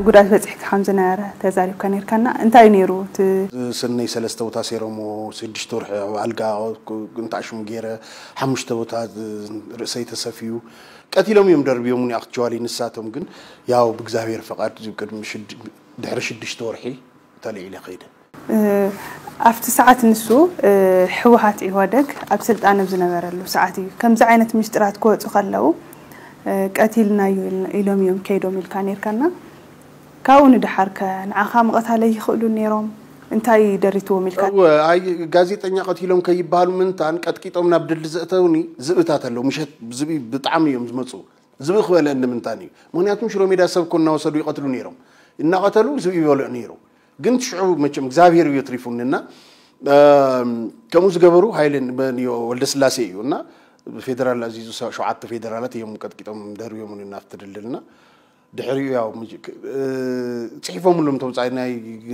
ጉድኣት በፂሕካ ከም ዝነበረ ተዛሪብካ ነርካና። እንታይ እዩ ነይሩ እቲ? ስነይ ሰለስተ ቦታ ሰይሮሞ፣ ሽዱሽተ ወርሒ ኣብ ኣልጋ እንታሽሙ ገይረ፣ ሓሙሽተ ቦታ ርእሰይ ተሰፍዩ። ቀቲሎም እዮም ደርብዮምኒ ኣክቹዋሊ። ንሳቶም ግን ያው ብእግዚኣብሔር ፈቃድ ቅድሚ ሽድ- ድሕሪ ሽዱሽተ ወርሒ ተልዒለ ከይደ። ኣብቲ ሰዓት ንሱ ህወሓት ኢህወደግ ኣብ ስልጣን ኣብ ዝነበረሉ ሰዓት እዩ ከምዚ ዓይነት ምስጢራት ክወፁ ከለዉ ቀቲልናዩ ኢሎም እዮም ከይዶም ኢልካ ነርካና። ካብኡ ንድሓር ከ ንዓኻ ምቐታለይ ይኽእሉ ነይሮም? እንታይ ደሪትዎም ኢልካ? እወ፣ ኣይ ጋዜጠኛ ቀቲሎም ከይበሃሉ ምንታን ቀጥቂጦም ናብ ድሊ ዘእተውኒ ዝብእታት ኣለዉ። ምሸት ዝብኢ ብጣዕሚ እዮም ዝመፁ። ዝብኢ ክበልዐኒ ምንታን እዩ። ምክንያቱም ሽሮ ሜዳ ሰብ እኮ እናወሰዱ ይቐትሉ ነይሮም። እናቐተሉ ዝብኢ ይበልዑ ነይሩ። ግን ሽዑ መቸም እግዚኣብሔር እዩ ኣትሪፉኒ እና ከምኡ ዝገበሩ ሃይለ ወልደስላሴ እዩ እና ፌደራል ኣዚዙ ሸውዓተ ፌደራላት እዮም ቀጥቂጦም ደርብዮምኒ ናብቲ ድልድልና ድሕሪኡ ያው ጽሒፎምሎም ተውፃኢ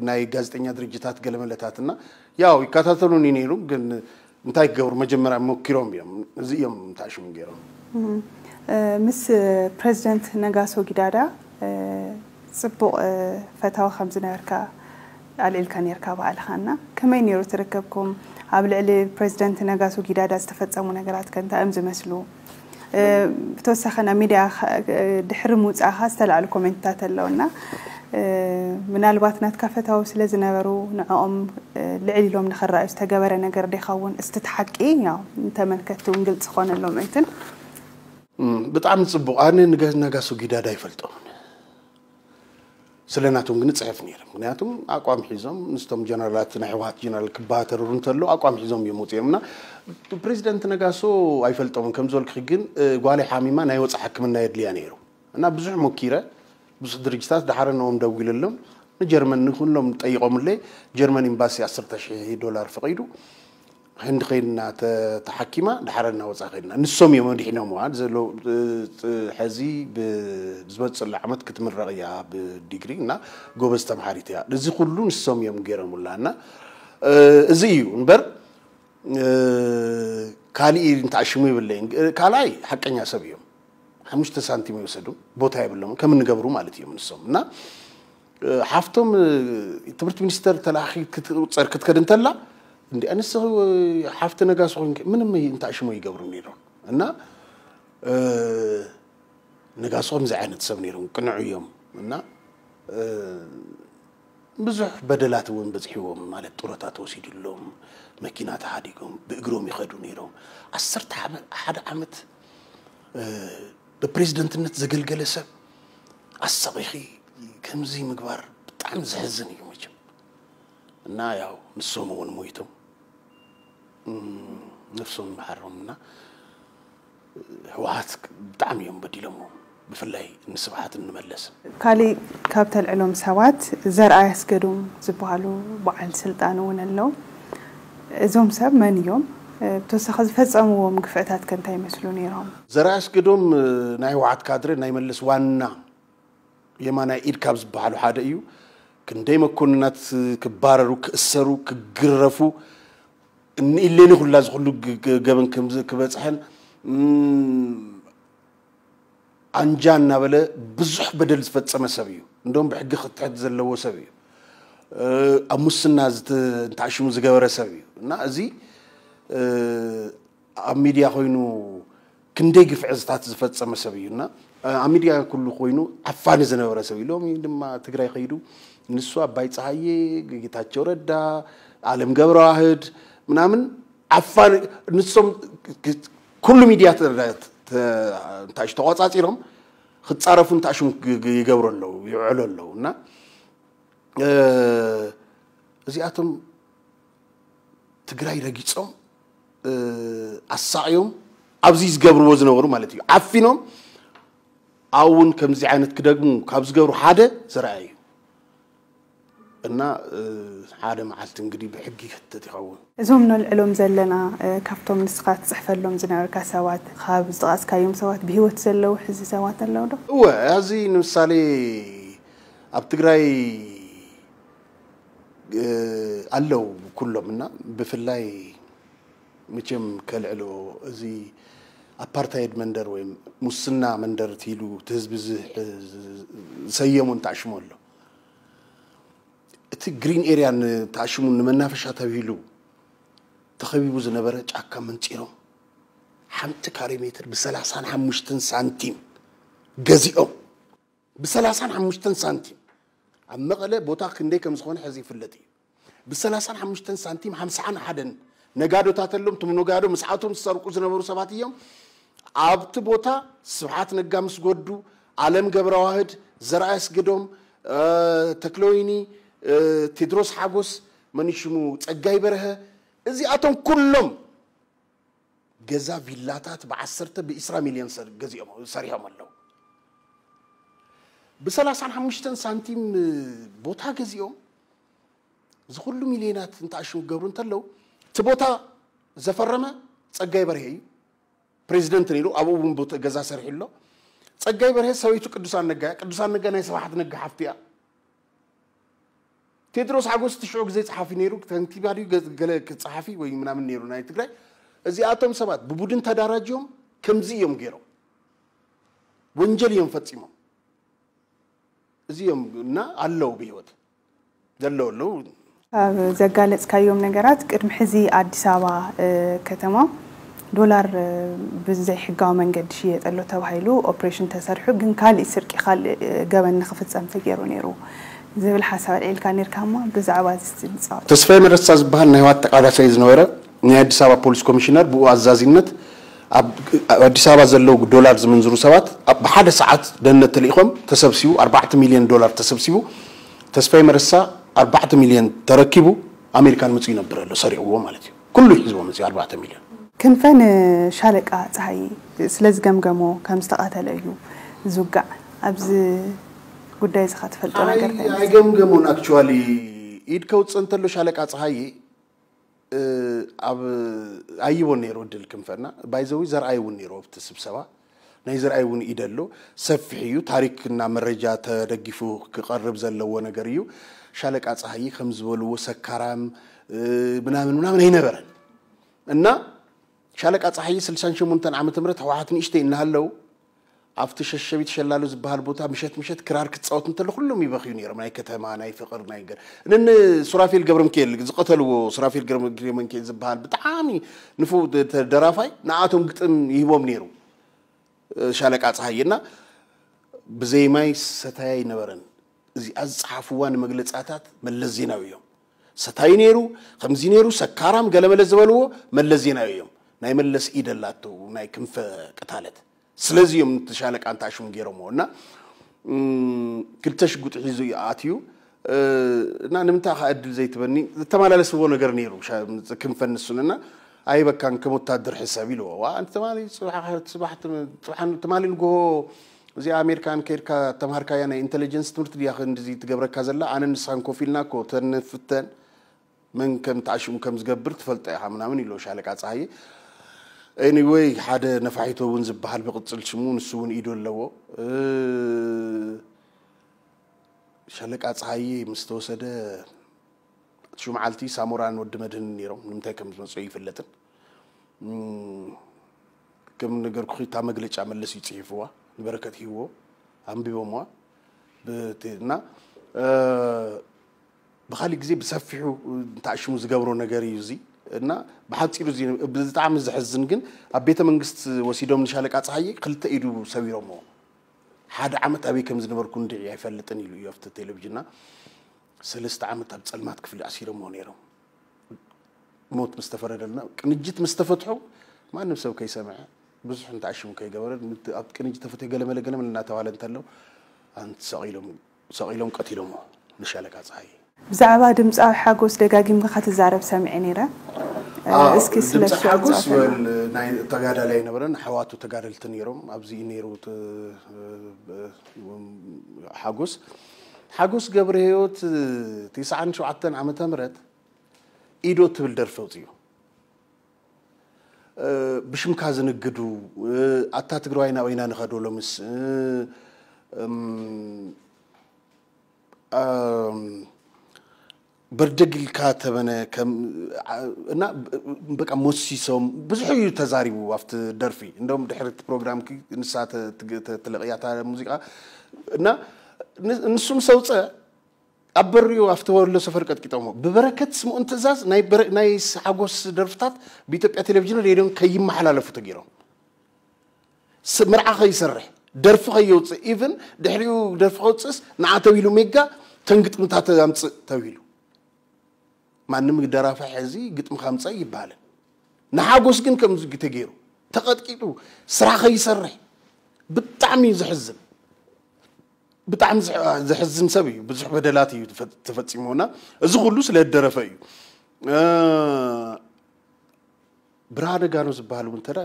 ናይ ጋዜጠኛ ድርጅታት ገለመለታትና ያው ይከታተሉኒ ነይሩ። ግን እንታይ ክገብሩ መጀመርያ ሞኪሮም እዮም። እዚ እዮም ታሽሙ ገይሮም። ምስ ፕሬዚደንት ነጋሶ ጊዳዳ ፅቡቕ ፈታዊ ከም ዝነበርካ ኣልዒልካ ነርካ ባዕልኻ እና ከመይ ነይሩ ትርከብኩም? ኣብ ልዕሊ ፕሬዚደንት ነጋሶ ጊዳዳ ዝተፈፀሙ ነገራት ከ እንታይ እዮም ዝመስሉ? ብተወሳኺ ናብ ሚድያ ድሕሪ ምውፃእኻ ዝተላዕሉ ኮሜንትታት ኣለውና ምናልባት ናትካ ፈታዊ ስለ ዝነበሩ ንዕኦም ልዕል ኢሎም ንኽረኣዩ ዝተገበረ ነገር ዲኸውን? እስቲ እቲ ሓቂ ያው ንተመልከትቲ እውን ግልፂ ክኾነሎም እንትን ብጣዕሚ ፅቡቕ። ኣነ ንገ- ነጋሶ ጊዳዳ ኣይፈልጦምን። ስለ ናቶም ግን እፅሕፍ ነይረ። ምክንያቱም ኣቋም ሒዞም ምስቶም ጀነራላት ናይ ህወሓት ጀነራል ክባተርሩ እንተሎ ኣቋም ሒዞም እዮም ወፂኦም እና ፕሬዚደንት ነጋሶ ኣይፈልጦምን። ከም ዝበልክኺ ግን እ፣ ጓለይ ሓሚማ ናይ ወፃኢ ሕክምና የድልያ ነይሩ እና ብዙሕ ሞኪረ ብዙሕ ድርጅታት ዳሓረ ነኦም ደዊለሎም ንጀርመን ንኩሎም ጠይቆምለይ ጀርመን ኤምባሲ ዓሰርተ ሺሕ ዶላር ፈቒዱ ህንዲ ከይድና ተ- ተሓኪማ ዳሓረ እናወፃ ከይድና ንሶም እዮም ኣድሒኖምዋ ዘሎ እ፣ እ፣ ሕዚ ብ- ዝመፅእ ዘሎ ዓመት ክትምረቕ እያ ብዲግሪ እና ጎበዝ ተምሃሪት እያ እዚ ኩሉ ንሶም እዮም ገይሮምላ እና እ፣ እዚ እዩ እምበር እ፣ ካሊእ እንተኣሽሙ ይብለይን ካልኣይ ሓቀኛ ሰብ እዮም ሓሙሽተ ሳንቲም ይወሰዱ ቦታ የብሎም ከም እንገብሩ ማለት እዮም ንሶም እና ሓፍቶም ትምህርቲ ሚኒስተር ተላኣኺ ክትቁፀር ክትከድ እንተላ እንዲ ኣንስ ሓፍቲ ነጋሶ ኮይንከ ምንም እንተኣሽሞ ይገብሩ ነይሮም እና ነጋሶ ከምዚ ዓይነት ሰብ ነይሮም ቅንዑ እዮም እና ብዙሕ በደላት እውን በፅሕዎም ማለት ጡረታ ተወሲድሎም መኪና ተሃዲጎም ብእግሮም ይኸዱ ነይሮም ዓሰርተ ሓደ ዓመት ብፕሬዝደንትነት ዘገልገለ ሰብ ኣሳቒኺ ከምዚ ምግባር ብጣዕሚ ዘሕዝን እዩ መቸም እና ያው ንሶም እውን ሞይቶም ነፍሶም ይምሓሮም እና ህወሓት ብጣዕሚ እዮም በዲሎሞ ብፍላይ ንስብሓት እንመለስ ካሊእ ካብ ተልዕሎም ሰባት ዘርኣይ ኣስገዶም ዝበሃሉ በዓል ስልጣን እውን ኣለዉ እዞም ሰብ መን እዮም ብተወሳኺ ዝፈፀምዎም ግፍዕታት ከ እንታይ ይመስሉ ነይሮም ዘርኣይ ኣስገዶም ናይ ህወሓት ካድረ ናይ መለስ ዋና የማናይ ኢድ ካብ ዝበሃሉ ሓደ እዩ ክንደይ መኮንናት ክባረሩ ክእሰሩ ክግረፉ ንኢሌኒ ኩላ ዝኩሉ ገበን ክበፅሐን ኣንጃ እናበለ ብዙሕ በደል ዝፈፀመ ሰብ እዩ እንደም ብሕጊ ክትሕት ዘለዎ ሰብ እዩ ኣብ ሙስና እንተኣሽሙ ዝገበረ ሰብ እዩ እና እዚ ኣብ ሚድያ ኮይኑ ክንደይ ግፍዕዝታት ዝፈፀመ ሰብ እዩ እና ኣብ ሚድያ ኩሉ ኮይኑ ዓፋኒ ዝነበረ ሰብ እዩ ሎሚ ድማ ትግራይ ከይዱ ንሱ ኣባይ ፀሃየ ጌታቸው ረዳ ኣለም ገብረዋህድ ምናምን ዓፋኒ ንሶም ኩሉ ሚድያ እንታሽ ተቋፃፂሮም ክፃረፉ እንታሽም ይገብሩ ኣለዉ ይውዕሉ ኣለዉ እና እዚኣቶም ትግራይ ረጊፆም ኣሳቕዮም ኣብዚ ዝገብርዎ ዝነበሩ ማለት እዩ ዓፊኖም ኣብውን ከምዚ ዓይነት ክደግሙ ካብ ዝገብሩ ሓደ ዘርኣያ እዩ እና ሓደ መዓልቲ እንግዲህ ብሕጊ ይሕተት ይኸውን እዞም ነልዕሎም ዘለና ካብቶም ንስኻ ትፅሕፈሎም ዝነበርካ ሰባት ካብ ዝጠቐስካዮም ሰባት ብሂወት ዘለዉ ሕዚ ሰባት ኣለዉ ዶ? እወ እዚ ንምሳሌ ኣብ ትግራይ ኣለው ኩሎም እና ብፍላይ መቸም ከልዕሎ እዚ ኣፓርታይድ መንደር ወይ ሙስና መንደር ኢሉ እቲ ህዝቢ ዝሰየሙ እንተኣሽሙ ኣሎ። እቲ ግሪን ኤርያ ተኣሽሙ ንመናፈሻ ተብሂሉ ተኸቢቡ ዝነበረ ጫካ መንፂሮም ሓንቲ ካሬ ሜትር ብ35 ሳንቲም ገዚኦም። ብ35 ሳንቲም ኣብ መቐለ ቦታ ክንደይ ከም ዝኾነ ሕዚ ይፍለጥ እዩ። ብ35 ሳንቲም ሓምሳን ሓደን ነጋዶታት ኣሎም። እቶም ነጋዶ ምስዓቶም ዝሰርቁ ዝነበሩ ሰባት እዮም። ኣብቲ ቦታ ስብሓት ነጋ ምስ ጎዱ፣ ኣለም ገብረዋህድ፣ ዘርኣይ ኣስገዶም፣ ተክለወይኒ፣ ቴድሮስ ሓጎስ፣ መንሽሙ ጸጋይ በርሀ፣ እዚኣቶም ኩሎም ገዛ ቪላታት ብዓሰርተ ብዒስራ ሚልዮን ገዚኦም ሰሪሖም ኣለዉ። ብ35 ሳንቲም ቦታ ገዚኦም እዚ ኩሉ ሚልዮናት እንተኣሽሙ ክገብሩ እንተለዉ፣ እቲ ቦታ ዘፈረመ ጸጋይ በርሄ እዩ። ፕሬዚደንት ነይሩ፣ ኣብኡ እውን ቦታ ገዛ ሰሪሑ ኣሎ። ጸጋይ በርሄ ሰበይቱ ቅዱሳን ነጋ እያ። ቅዱሳን ነጋ ናይ ስብሓት ነጋ ሓፍቲ እያ። ቴድሮስ ሓጎስ እቲ ሽዑ ግዜ ጸሓፊ ነይሩ፣ ከንቲባ ድዩ ገ- ገለ ጸሓፊ ወይ ምናምን ነይሩ ናይ ትግራይ። እዚኣቶም ሰባት ብቡድን ተዳራጅዮም ከምዚ እዮም ገይሮም፣ ወንጀል እዮም ፈጺሞም። እዚኦም እና ኣለዉ ብህይወት ዘለዉ ኣለዉ። ካብ ዘጋለጽካዮም ነገራት ቅድሚ ሕዚ ኣዲስ ኣበባ ከተማ ዶላር ብዘይሕጋዊ መንገዲ ሽየጥ ኣሎ ተባሂሉ ኦፕሬሽን ተሰሪሑ፣ ግን ካሊእ ስርቂ፣ ካሊእ ገበን ንክፍጸም ተገይሩ ነይሩ ዝብል ሓሳብ ኣልዒልካ ነርካ። እሞ ብዛዕባ እዚ ንጻወት። ተስፋይ መረሳ ዝበሃል ናይ ህወሓት ተቃዳሳይ ዝነበረ ናይ ኣዲስ ኣበባ ፖሊስ ኮሚሽነር ብኡ ኣዛዚነት ኣብ ኣዲስ ኣበባ ዘለዉ ዶላር ዝምንዝሩ ሰባት ኣብ ብሓደ ሰዓት ደህንነት ተልኢኾም ተሰብሲቡ ኣርባዕተ ሚልዮን ዶላር ተሰብሲቡ ተስፋይ መረሳ ኣርባዕተ ሚልዮን ተረኪቡ ኣሜሪካን መፅኡ ይነብር ኣሎ ሰሪቕዎ ማለት እዩ። ኩሉ ሒዝዎ መፅኡ ኣርባዕተ ሚልዮን። ክንፈ ንሻለቃ ፀሃይ ስለ ዝገምገሞ ከም ዝተቐተለ እዩ ዝውጋዕ። ኣብዚ ጉዳይ እዚ ትፈልጦ ነገር እንታይ ኣሎ? ኣይገምገሞን። ኣክቹዋሊ ኢድ ከውፅእ እንተሎ ሻለቃ ፀሃይ ኣብ ኣይቦን ነይሩ እድል ክንፈና ባይዘዊ ዘርኣይ እውን ነይሩ ኣብቲ ስብሰባ ናይ ዘርኣይ እውን ኢደሎ ሰፊሕ እዩ ታሪክና መረጃ ተደጊፉ ክቐርብ ዘለዎ ነገር እዩ። ሻለቃ ፀሃይ ከም ዝበልዎ ሰካራም ምናምን ምናምን ኣይነበረን እና ሻለቃ ፀሃይ ስልሳን ሸሞንተን ዓመተ ምህረት ህወሓት ንእሽተይ እናሃለው ኣብቲ ሸሸቢት ሸላሎ ዝበሃል ቦታ ምሸት ምሸት ክራር ክፃወት እንተሎ ኩሎም ይበኽዩ ነይሮም። ናይ ከተማ ናይ ፍቕር ናይ ገር እንን ሱራፌል ገብረምክኤል ዝቐተልዎ ሱራፌል ገብረምክኤል ዝበሃል ብጣዕሚ ንፉ ደራፋይ ንኣቶም ግጥም ይህቦም ነይሩ ሻለቃ ፀሃይ እና ብዘይ ማይ ሰታይ ኣይነበረን። እዚኣ ዝፀሓፍዋ ንመግለፃታት መለስ ዜናዊ እዮም። ሰታይ ነይሩ ከምዚ ነይሩ ሰካራም ገለመለ ዝበልዎ መለስ ዜናዊ እዮም። ናይ መለስ ኢድ ኣላቶ ናይ ክንፈ ቅታለት ስለዚ እዮም እቲ ሻለቃ እንተ ኣሽሙ ገይሮምዎ እና ክልተ ሽጉጥ ሒዙ እዩ ኣትዩ እና ንምንታይ ከ እድል ዘይትበኒ ዝተመላለስዎ ነገር ነይሩ ክንፈን ንሱን እና ኣይበካን ከም ወታደር ሕሰብ ኢልዎ ዋ ኣንቲ ትማሊ ፅባሕ ትማሊ ንግሆ እዚኣ ኣሜሪካን ከይድካ ተምሃርካያ ናይ ኢንቴሊጀንስ ትምህርቲ ድያ ክንድዚ ትገብረካ ዘላ ኣነ ንስኻን ኮፍ ኢልና ኮ ተንፍተን መን ከም ተዓሽሙ ከም ዝገብር ትፈልጦ ኢኻ ምናምን ኢሎ ሻለቃ ፀሃየ ኤኒወይ ሓደ ነፋሒቶ እውን ዝበሃል ብቅፅል ሽሙ ንሱ እውን ኢዶ ኣለዎ ሻለቃ ፀሃየ ምስ ተወሰደ ሹምዓልቲ ሳሞራን ወዲ መድህን ነይሮም ንምንታይ ከም ዝመፅኦ ይፍለጥን ከም ነገርኩ እታ መግለጫ መለስ እዩ ፅሒፍዋ ንበረከት ሂዎ ኣንቢቦምዋ እና ብካሊእ ግዜ ብሰፊሑ እንተኣሽሙ ዝገብሮ ነገር እዩ እዚ እና ብሓፂሩ እዚ ብጣዕሚ ዘሕዝን ግን ኣብ ቤተ መንግስት ወሲዶም ንሻለቃ ፀሃየ ክልተ ኢዱ ሰቢሮምዎ ሓደ ዓመት ኣበይ ከም ዝነበርኩ እንድዒ ኣይፈልጥን ኢሉ እዩ ኣብቲ ቴሌቪዥንና ሰለስተ ዓመት ኣብ ፀልማት ክፍሊ ኣሲሮምዎ ነይሮም ሞት ምስ ተፈረደልና ቅንጅት ምስ ተፈትሑ ማንም ሰብ ከይሰምዐ ብዙሕ እንተኣሽሙ ከይገበረ ኣብ ቅንጅት ተፈትሑ ገለመለ ገለመለ እናተባለ እንተሎ ኣንቲ ሰቒሎም ሰቒሎም ቀቲሎሞ ንሻለቃ ፀሃየ ብዛዕባ ድምፃዊ ሓጎስ ደጋጊምካ ክትዛረብ ሰሚዐ ነይረ። እስኪ ስለ ድምፂ እሱ ሓጎስ ኣጫውተና። ወል ናይ ተጋዳላይ ነበረን ኣሕዋቱ ተጋደልቲ ነይሮም ኣብዚ እዩ ነይሩ እቲ ሓጎስ ሓጎስ ገብረ ህይወት ትስዓን ሸውዓተን ዓመተ ምህረት ኢዶ ትብል ደርፊ ኣውፅኡ ብሽምካ ዝንግዱ ኣታ ትግራዋይ ናበይና ንኸዶ ሎምስ በርደግ ኢልካ ተበነ ከም እና በቃ ሞሲሶም ብዙሕ እዩ ተዛሪቡ ኣብቲ ደርፊ። እንደውም ድሕሪ እቲ ፕሮግራም ንሳ ትለቕያታ ሙዚቃ እና ንሱም ሰውፀ ኣብ በሪኡ ኣብቲ ወሎ ሰፈር ቀጥቂጦሞ ብበረከት ስምኦን ትእዛዝ ናይ ሓጎስ ደርፍታት ብኢትዮጵያ ቴሌቪዥን ሬድዮን ከይመሓላለፉ ተገይሮም። መርዓ ከይሰርሕ ደርፊ ከየውፅእ ኢቭን ድሕሪኡ ደርፊ ከውፅእስ ንዓ ተቢሉ ሜጋ ተንግጥምታት ኣምፅእ ተቢሉ ማንም ደራፋ ሕዚ ግጥሚ ካምፀ ይባልን ንሓጎስ ግን ከምዚ ተገይሩ ተቐጥቂጡ ስራሕ ከይሰርሕ ብጣዕሚ እዩ ዘሕዝን። ብጣዕሚ ዘሕዝን ሰብ እዩ። ብዙሕ በደላት እዩ ተፈፂሞና። እዚ ኩሉ ስለ ደረፈ እዩ። ብርሃነ ጋኖ ዝበሃል እውን ተዳ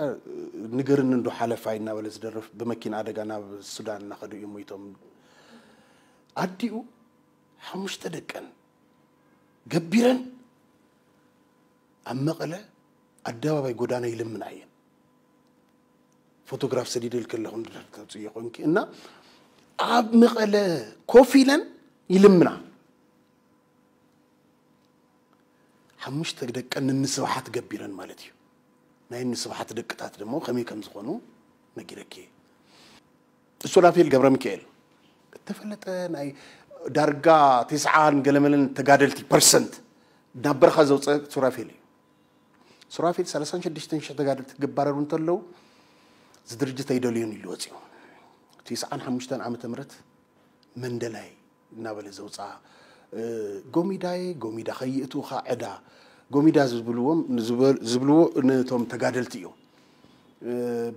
ንገርኒ እንዶ ሓለፋይ እናበለ ዝደርፍ ብመኪና ኣደጋ ናብ ሱዳን እናኸዱ እዮም ሞይቶም። ኣዲኡ ሓሙሽተ ደቀን ገቢረን ኣብ መቐለ ኣደባባይ ጎዳና ይልምና እየን። ፎቶግራፍ ሰዲደልክ ኣለኹ ተውፅዮ ኮንኪ እና ኣብ መቐለ ኮፍ ኢለን ይልምና ሓሙሽተ ደቀን ንስብሓት ገቢረን ማለት እዩ። ናይ ንስብሓት ደቅታት ደሞ ከመይ ከም ዝኾኑ ነጊረኪ። ሱራፌል ገብረ ሚካኤል እተፈለጠ ናይ ዳርጋ ተስዓን ገለመለን ተጋደልቲ ፐርሰንት ናብ በረኻ ዘውፀ ሱራፌል እዩ። ሱራፌል ሰላሳን ሽዱሽተን ሽሕ ተጋደልቲ ክባረሩ እንተለዉ እዚ ድርጅት ኣይደልዮን ኢሉ ወፂኡ። ተስዓን ሓሙሽተን ዓመተ ምህረት መንደላይ እናበለ ዘውፅኣ ጎሚዳየ ጎሚዳ ከይእትውኻ ዕዳ ጎሚዳ ዝብልዎም ዝብልዎ ነቶም ተጋደልቲ እዮም።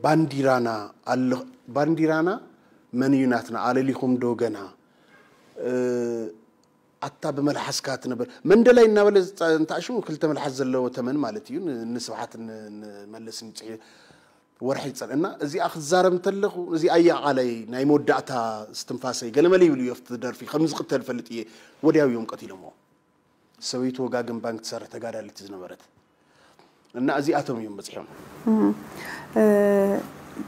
ባንዲራና ኣሎ ባንዲራና መን እዩ ናትና ኣለሊኹም ዶ ገና ኣታ ብመልሓስካ ትነበር መንደላይ እናበለ እንታሽሙ ክልተ መልሓስ ዘለዎ ተመን ማለት እዩ። ንስብሓት ንመለስን ይፅሒ ወርሒ ይፀን እና እዚኣ ክዛረብ እንተለኹ እዚኣ እያ ቃለይ ናይ መወዳእታ እስትንፋሰይ ገለመለ ይብሉ እዩ ኣብቲ ደርፊ ከም ዝቅተል ፈልጥ እየ። ወዲያው እዮም ቀቲሎሞ። ሰበይቱ ወጋግን ባንክ ትሰርሕ ተጋዳሊት ዝነበረት እና እዚኣቶም እዮም በፂሖም።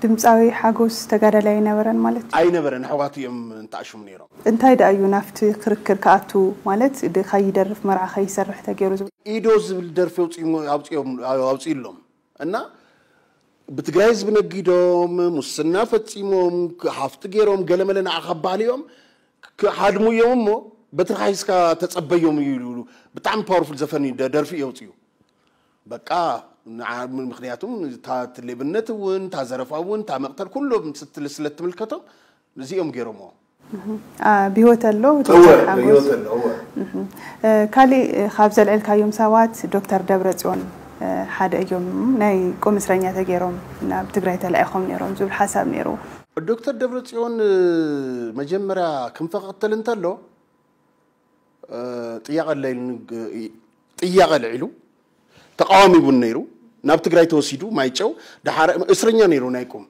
ድምፃዊ ሓጎስ ተጋዳላይ ኣይነበረን ማለት እዩ? ኣይነበረን። ኣሕዋቱ እዮም እንተኣሽሙ ነይሮም። እንታይ ደኣ እዩ ናብቲ ክርክር ክኣቱ ማለት ከይደርፍ መርዓ ከይሰርሕ ተገይሩ ዝብል? ኢዶ ዝብል ደርፊ ኣውፅእሎም እና ብትግራይ ህዝቢ ነጊዶም ሙስና ፈፂሞም ሃፍቲ ገይሮም ገለመለ ንዓኻ ባልዮም ክሃድሙ እዮም እሞ በትርኻ ሒዝካ ተፀበዮም እዩ ይብሉ። ብጣዕሚ ፓወርፉል ዘፈን እዩ፣ ደ- ደርፊ እዩ ኣውፅኡ። በቃ ንዓ- ምክንያቱም እታ እቲ ሌብነት እውን እታ ዘረፋ እውን እታ መቅተል ኩሎም ስትል ስለትምልከቶም እዚኦም ገይሮምዎ። አ፣ ብህይወት ኣሎ እወ ዶክተር ሓጎስ? ብህይወት ኣሎ እወ። እ፣ ካሊእ እ፣ ካብ ዘልዕልካዮም ሰባት ዶክተር ደብረፅዮን እ፣ ሓደ እዮም። ናይ ቁም እስረኛ ተገይሮም ናብ ትግራይ ተላኢኾም ነይሮም ዝብል ሓሳብ ነይሩ። ዶክተር ደብረፅዮን መጀመርያ ክንፈ ክቕተል እንተሎ ጥያቐ ኣለ ኢሉ ጥያቐ ኣልዒሉ ተቓዋሚ እውን ነይሩ። ናብ ትግራይ ተወሲዱ ማይጨው ድሓረ እስረኛ ነይሩ ናይ ቁም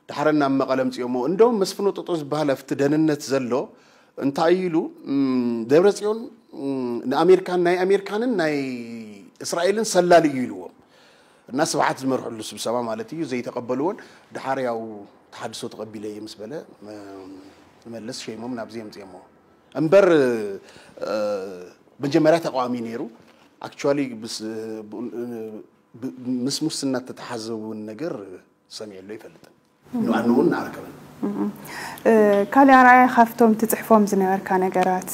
ድሓረ ናብ መቐለ ኣምፅኦሞ። እንደውም መስፍን ወጠጦ ዝበሃል ኣብቲ ደህንነት ዘሎ እንታይ ኢሉ ደብረፅዮን ንኣሜሪካን ናይ ኣሜሪካንን ናይ እስራኤልን ሰላሊ እዩ ኢልዎም። እና ስብሓት ዝመርሕሉ ስብሰባ ማለት እዩ ዘይተቐበልዎን ድሓር ያው ተሓድሶ ተቐቢለ እየ ምስ በለ መለስ ሸይሞም ናብዚ የምፅኦሞ እምበር መጀመርያ ተቃዋሚ ነይሩ። ኣክቹዋሊ ምስ ሙስና ተተሓዘ እውን ነገር ሰሚዐሉ ኣይፈልጥን። ንኣኑ እውን ኣረከበን። ካልእ ኣርኣያ ካብቶም ትፅሕፎም ዝነበርካ ነገራት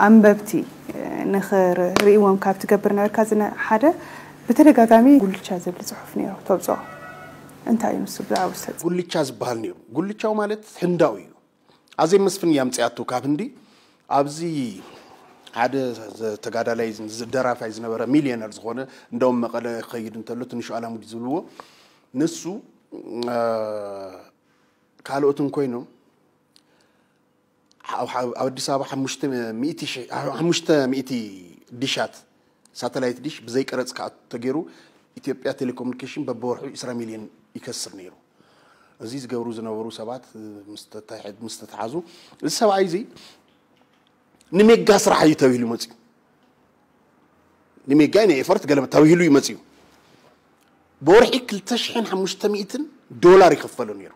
ኣንበብቲ ንኽርእይዎም ካብ ትገብር ነበርካ ሓደ ብተደጋጋሚ ጉልቻ ዝብል ፅሑፍ ነይሩ ተውፅኦ እንታይ እዩ ንሱ ብዛዕባ ውሰድ ጉልቻ ዝበሃል ነይሩ። ጉልቻው ማለት ህንዳዊ እዩ። ኣዜብ መስፍን እያ ኣምፅኣቶ ካብ ህንዲ። ኣብዚ ሓደ ተጋዳላይ ደራፋይ ዝነበረ ሚልዮነር ዝኾነ እንደውም መቐለ ክኸይድ እንተሎ ትንሹ ኣላሙዲ ዝብልዎ ንሱ ካልኦትን ኮይኖም ኣብ ኣዲስ ኣበባ ሓሙሽተ ሚእቲ ዲሻት ሳተላይት ዲሽ ብዘይ ቀረፅ ክኣቱ ተገይሩ ኢትዮጵያ ቴሌኮሙኒኬሽን በብወርሑ ዒስራ ሚልዮን ይከስር ነይሩ። እዚ ዝገብሩ ዝነበሩ ሰባት ምስ ተተሓዙ እዚ ሰብኣይ እዚ ንሜጋ ስራሕ እዩ ተባሂሉ መፅዩ። ንሜጋ ናይ ኤፈርት ገለመ ተባሂሉ እዩ መፅዩ። ብወርሒ ክልተ ሽሕን ሓሙሽተ ሚእትን ዶላር ይኸፈሎ ነይሩ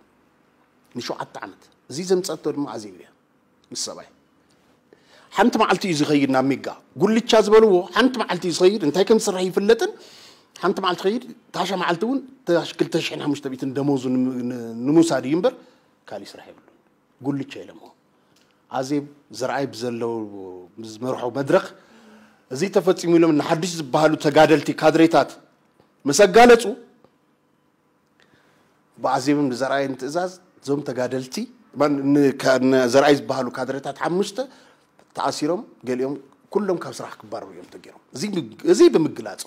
ንሸውዓተ ዓመት። እዚ ዘምፀቶ ድማ ኣዜብ እያ ምስ ሰብኣይ ሓንቲ መዓልቲ እዩ ዝኸይድ ናብ ሜጋ። ጉልቻ ዝበልዎ ሓንቲ መዓልቲ እዩ ዝኸይድ፣ እንታይ ከም ዝስራሕ ይፍለጥን። ሓንቲ መዓልቲ ኸይድ፣ ታሻ መዓልቲ እውን ታሽ ክልተ ሽሕን ሓሙሽተ ሚእትን ደሞዙ ንም- ን- ንምውሳድ እዩ እምበር፣ ካሊእ ስራሕ የብሉን። ጉልቻ ኢሎሞ። ኣዜብ ዘርኣይ ብዘለው ዝመርሖ መድረኽ፣ እዚ ተፈጺሙ ኢሎም ንሓድሽ ዝበሃሉ ተጋደልቲ ካድሬታት ምስ ኣጋለጹ፣ ብኣዜብን ብዘርኣይን ትእዛዝ እዞም ተጋደልቲ፣ ማን- ን- ካ- ን- ዘርኣይ ዝበሃሉ ካድሬታት ሓሙሽተ ተኣሲሮም፣ ገሊኦም ኩሎም ካብ ስራሕ ክባረሩ እዮም ተገይሮም። እዚ ብ- እዚ ብምግላጹ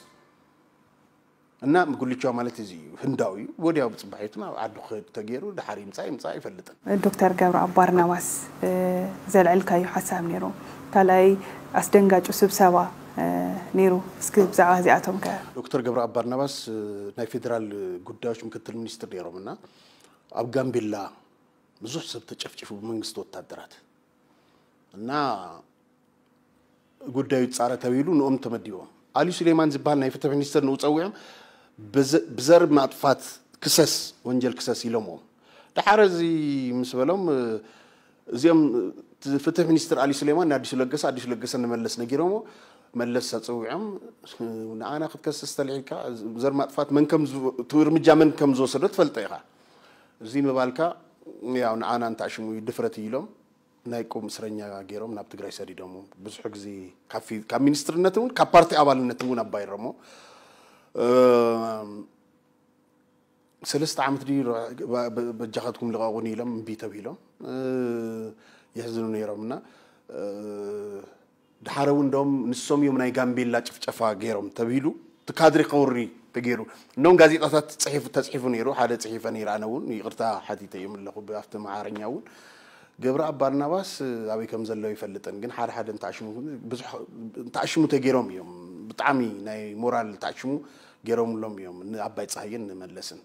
እና ጉልቻ ማለት እዚ እዩ፣ ህንዳዊ እዩ። ወዲያው ብጽባሒቱ ናብ ዓዱ ክኸድ ተገይሩ፣ ድሓር ይምጻእ ይምጻእ ኣይፈልጥን። ዶክተር ገብረኣብ ባርናባስ፣ እ፣ ዘልዐልካዮ ሓሳብ ነይሩ። ካልኣይ ኣስደንጋጩ ስብሰባ፣ እ፣ ነይሩ። እስኪ ብዛዕባ እዚኣቶም ከ? ዶክተር ገብረኣብ ባርናባስ፣ እ፣ ናይ ፌዴራል ጉዳዮች ምክትል ሚኒስትር ነይሮም እና ኣብ ጋምቤላ ብዙሕ ሰብ ተጨፍጭፉ ብመንግስቲ ወታደራት እና ጉዳዩ ይጻረ ተባሂሉ ንኦም ተመዲቦም። ኣሊ ሱሌማን ዝበሃል ናይ ፍትሒ ሚኒስትር ንኡ ጸዊዖም ብዘ- ብዘር ማጥፋት ክሰስ፣ ወንጀል ክሰስ ኢሎምዎም። ድሓር እዚ ምስ በሎም፣ እ፣ እዚኦም፣ እ፣ ፍትሒ ሚኒስትር ኣሊ ሱሌማን ንኣዲሱ ለገሰ፣ ኣዲሱ ለገሰ ንመለስ ነጊሮሞ፣ መለስ ኣጸዊዖም፣ እ፣ ንኣና ክትከስስ ተልዒልካ፣ ዘር ማጥፋት መን ከም ዝወ- እቲ እርምጃ መን ከም ዝወሰዶ ትፈልጦ ኢኻ። እዚ ምባልካ ያው ንኣና እንታሽሙ እዩ ድፍረት እዩ ኢሎም ናይ ቁም እስረኛ ገይሮም ናብ ትግራይ ሰዲዶም። ብዙሕ ግዜ ካብ ፊ- ካብ ሚኒስትርነት እውን ካብ ፓርቲ ኣባልነት እውን ኣባይሮሞ። እ፣ ሰለስተ ዓመት ድዩ ረ- በ- በ- በጃኻትኩም ልቐቑኒ ኢሎም እምቢ ተብሂሎም፣ እ፣ የሕዝኑ ነይሮም እና፣ እ፣ ድሓረ እውን እንደውም ንሶም እዮም ናይ ጋምቤላ ጭፍጨፋ ገይሮም ተብሂሉ እቲ ካድሪ ከውሪ ተገይሩ። እኖም ጋዜጣታት ጽሒፉ ተጽሒፉ ነይሩ። ሓደ ጽሒፈ ነይረ ኣነ እውን ይቕርታ ሓቲተ እዮም ኣለኹ ብኣፍቲ መዓረኛ እውን። ገብረኣብ ባርናባስ ኣበይ ከም ዘሎ ይፈልጥን ግን ሓደ ሓደ እንተኣሽሙ ብዙሕ እንተኣሽሙ ተገይሮም እዮም። ብጣዕሚ ናይ ሞራል ተኣሽሙ ገይሮምሎም እዮም ንኣባይ ፀሃየን ንመለስን።